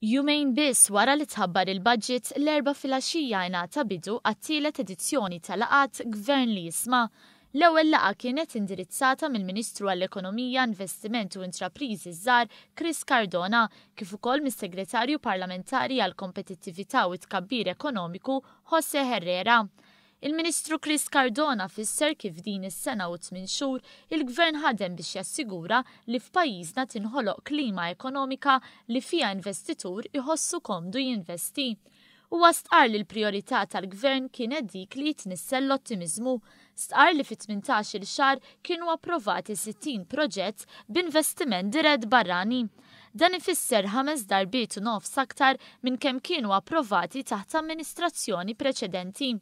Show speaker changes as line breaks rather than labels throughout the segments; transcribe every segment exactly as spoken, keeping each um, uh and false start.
Jumejn biss wara li tħabbar il-budget, l-Erbgħa filgħaxija ingħata bidu għat-tielet edizzjoni tal-laqgħat Gvern li Jisma'. L-ewwel laqgħa kienet indirizzata mill-Ministru għall-Ekonomija, Investiment u Intrapriżi Żgħar Chris Cardona, kif ukoll mis-Segretarju Parlamentari għall-Kompetittività u Tkabbir Ekonomiku Jose Herrera. Il-Ministru Chris Cardona fisser kif din is-sena u tmien xhur il-Gvern ħadem biex jassigura li f'pajjiżna tinħoloq klima ekonomika li fiha investitur iħossu komdu jinvesti. Huwa stqar li l-priorità tal-Gvern kienet dik li jitnissel l-ottimiżmu. Stqar li fi tmintax-il xahar kienu approvati sittin proġett b'investiment dirett barrani. Dan ifisser ħames darbiet u nofs aktar minn kemm kienu approvati taħt amministrazzjoni preċedenti.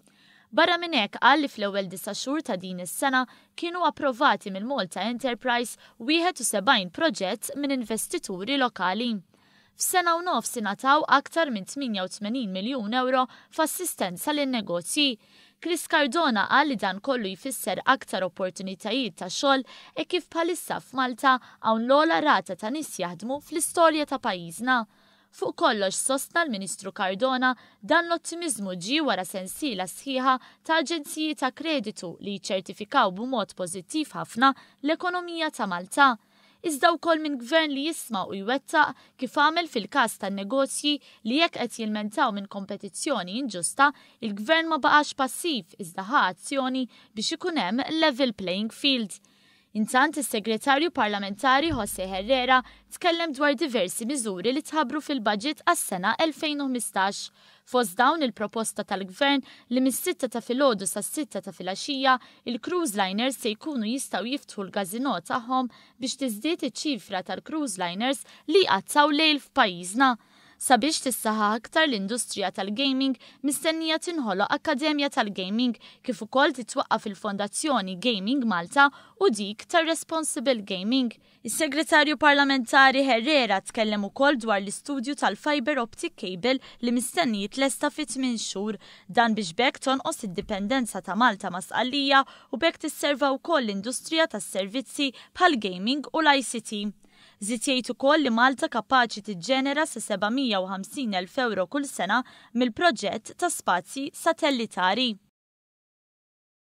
Barra minn hekk, qal li fl-ewwel disa' xhur ta' din is-sena kienu approvati mill-Malta Enterprise wieħed u sebgħin proġett minn investituri lokali. F'sena u nofs ingħataw aktar minn tmienja u tmenin miljun euro f'assistenza lin-negozji. Chris Cardona qal li dan kollu jfisser aktar opportunitajiet ta' xogħol e kif bħalissa f'Malta hawn l-ogħla rata ta' nies jaħdmu fl-istorja ta' pajjiżna. Fuq kollox, sostna l-Ministru Cardona, dan l-ottimiżmu ġie wara sensiela sħiħa ta' aġenziji ta' kreditu li ċertifikaw b'mod pożittiv ħafna l-ekonomija ta' Malta. Iżda wkoll minn gvern li jisma' u jwettaq, kif għamel fil-każ tan-negozji li jekk qed jilmentaw minn kompetizzjoni inġusta, il-gvern ma baqax passiv iżda ħa azzjoni biex ikun hemm level playing field. Intant, is-Segretarju Parlamentari Jose Herrera tkellem dwar diversi miżuri li tħabbru fil-budget għas-sena elfejn u ħmistax. Fost dawn, il-proposta tal-Gvern li mis-sitta ta' filgħodu sas-sitta ta' filgħaxija il-cruise liners se jkunu jistgħu jiftħu l-gazino tagħhom biex tiżdied iċ-ċifra tal-cruise liners li jqattgħu lejl f'pajjiżna. Sabiex tissaħħaħ aktar l-industrija tal-gaming, mistennija tinħoloq Akkademja tal-Gaming, kif ukoll titwaqqaf il-Fondazzjoni Gaming Malta u dik tar-Responsible Gaming. Is-Segretarju Parlamentari Herrera tkellem ukoll dwar l-istudju tal-fiber optic cable li mistenni jitlesta fi tmien xhur, dan biex b'hekk tonqos id-dipendenza ta' Malta ma' Sqallija u b'hekk tisserva wkoll l-industrija tas-servizzi bħal gaming u l-I C T. Żied jgħid ukoll li Malta kapaċi tiġġenera sa seba' mija u ħamsin elf euro kull sena mill-proġett ta' spazji satellitari.